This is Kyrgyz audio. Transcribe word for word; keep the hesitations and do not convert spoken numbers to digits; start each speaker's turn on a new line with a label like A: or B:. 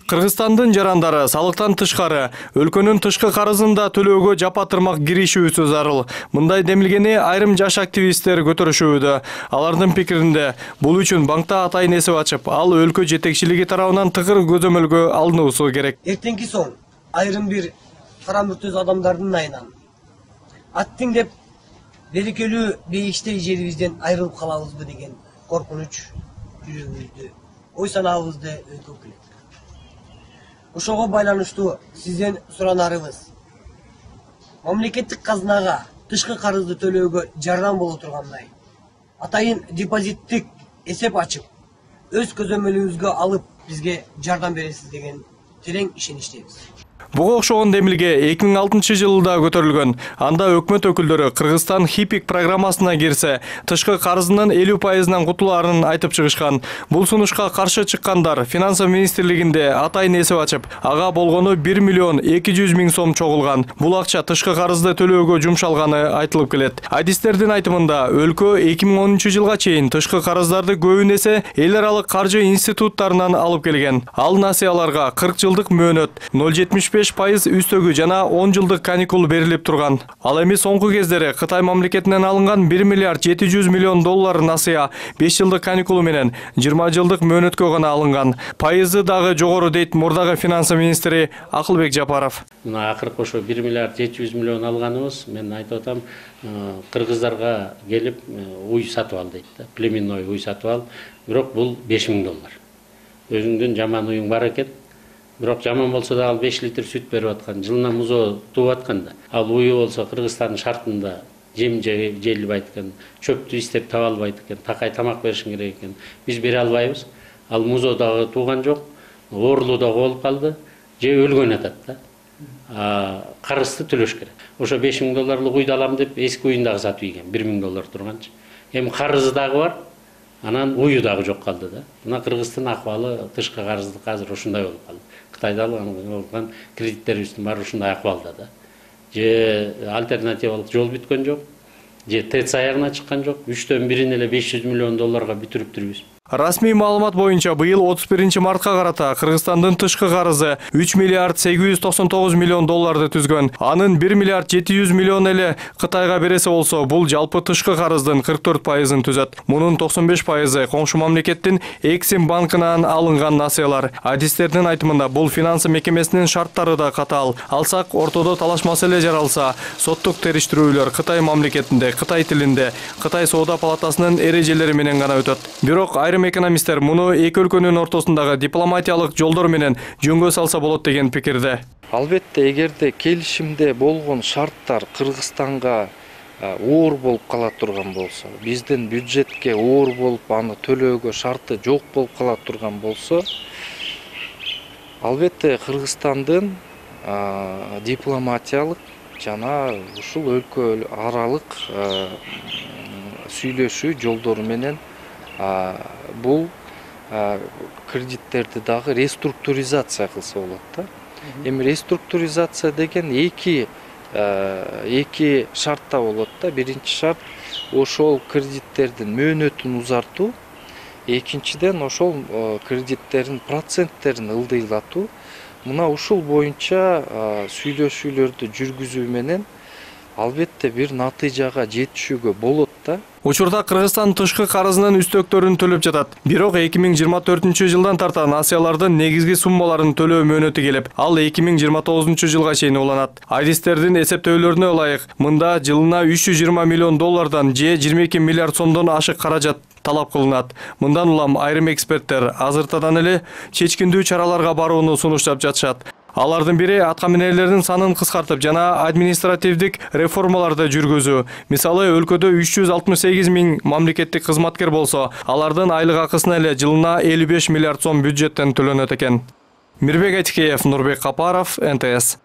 A: Кыргызстандын жарандары салыктан тышкары өлкөнүн тышкы карызын да төлөөгө жапа тырмак киришүүсү зарыл. Мындай демилгени айрым жаш активисттер көтөрүшүүдө. Алардын пикиринде бул үчүн банкта атайын эсеп ачып, ал өлкө жетекчилиги тарабынан тыгыр көзөмөлгө алынуусу керек.
B: Эртеңки соң айрым бир кара мүртөз адамдардын айынан аттың деп берекелүү бейиштей жерибизден айрылып калабызбы деген коркунуч жүрөгүбүздү, ой санаабызды өйкөп келет. Ошого байланыштуу сизден суранарыбыз, мамлекеттик казынага тышкы карызды төлөөгө жардам боло тургандай атайын депозиттик эсеп ачып, өз көзөмөлүбүзгө алып бизге жардам бересиз деген терең ишеничтебиз.
A: Буга окшогон демилге эки миң алтынчы жылда көтөрүлгөн. Анда өкмөт өкүлдөрү Кыргызстан хипик программасына кирсе, тышкы карызынын элүү пайызынан кутулаарын айтып чыгышкан. Бул сунушка каршы чыккандар Финансы министрлигинде атайын эсеп ачып, ага болгону бир миллион эки жүз миң сом чогулган. Бул акча тышкы карызды төлөөгө жумшалганы айтылып келет. Адистердин айтымында, өлкө эки миң онунчу жылга чейин тышкы карыздарды көбүн эсе эл аралык каржы институттарынан алып келген. Ал насыяларга кырк жылдык мөөнөт, ноль жетимиш беш пайыз үстөгү жана он жылдык каникул берилип турган. Ал эми соңку кездери Кытай мамлекетинен алынган бир миллиард жети жүз миллион доллар насыя беш жылдык каникулу менен жыйырма жылдык мөөнөткө гана алынган. Пайызы дагы жогору дейт мурдагы финансы министри Акылбек Жапаров.
C: Мына акыркы ошо бир миллиард жети жүз миллион алганыбыз, мен айтып атам, кыргыздарга келип уй сатып ал дейт да, племенной уй сатып ал. Бирок бул беш миң доллар. Өзүңдүн жаман уюң бар экен. Бирок жаман болсо да ал беш литр сүт берип аткан, жылына музо тууп аткан да. Ал уyu болсо Кыргызстандын шартында жем желбайт экен, чөптү издеп таба албайт экен, такай тамак беришиң керек экен. Биз бере албайбыз. Ал музо дагы тууган жок, оорулуу дагы болуп калды, же өлгөн атат да. А карызды төлөш керек. Ошо беш миң долларлык уйду алам деп эски уюн дагы сатып ийген, бир миң доллар турганчы. Эми карызы дагы бар. Анан уyu дагы жок калды да. Мына Кыргыздын акыбалы тышкы карызды азыр ушундай болуп калды. Кытайда алган кредиттерибиздин баары ушундай акыбалда да. Же альтернативалык жол бүткөн жок, же ТЭЦ аягына чыккан жок. үчтөн бирин эле беш жүз миллион долларга бүтүрүптүрбүз.
A: Расмий маалымат боюнча быйыл отуз биринчи мартка карата Кыргызстандын тышкы карызы үч миллиард сегиз жүз токсон тогуз миллион долларды түзгөн. Анын бир миллиард жети жүз миллион эле Кытайга бересе болсо, бул жалпы тышкы карыздын кырк төрт пайызын түзөт. Мунун токсон беш пайызы коңшу мамлекеттин Эксим банкынан алынган насыялар. Адистердин айтымында бул финансы мекемесинин шарттары да катаал. Алсак, ортодо талаш маселе жаралса, соттук териштирүүлөр Кытай мамлекетинде, Кытай тилинде, Кытай соода палатасынын эрежелери менен гана өтөт. Бирок айрым экономисттер муну эки өлкөнүн ортосундагы дипломатиялык жолдор менен жөнгө салса болот деген пикирде.
D: Албетте, эгерде келишимде болгон шарттар Кыргызстанга оор болуп кала турган болсо, биздин бюджетке оор болуп, аны төлөөгө шарты жок болуп кала турган болсо, албетте Кыргызстандын дипломатиялык жана ушул өлкө аралык сүйлөшүү жолдору менен бул кредиттерди дагы реструктуризация кылса болот да. Эми реструктуризация деген эки эки шартта болот да. Биринчи шарт ошол кредиттердин мөөнөтүн узартуу, экинчиден ошол кредиттердин проценттерин ылдыйлатуу. Мына ушул боюнча сүйлөшүүлөрдү жүргүзүү менен албетте бир натыйжага жетишүүгө болот да.
A: Учурда Кыргызстан тышкы карызынын үстөктөрүн төлөп жатат. Бирок эки миң жыйырма төртүнчү жылдан тарта насыялардын негизги суммаларын төлөө мөөнөтү келип, ал эки миң жыйырма тогузунчу жылга чейин уланат. Адистердин эсептөөлөрүнө ылайык, мында жылына үч жүз жыйырма миллион доллардан же жыйырма эки миллиард сомдон ашык каражат талап кылынат. Мындан улам айрым эксперттер азыртадан эле чечкиндүү чараларга барууну сунуштап жатышат. Алардын бири атка минерлердин санын кыскартып жана административдик реформаларды жүргүзүү. Мисалы, өлкөдө үч жүз алтымыш сегиз миң мамлекеттик кызматкер болсо, алардын айлык акысына эле жылына элүү беш миллиард сом бюджеттен төлөнөт экен. Мирбек Айтикеев, Нурбек Капаров, эн тэ эс.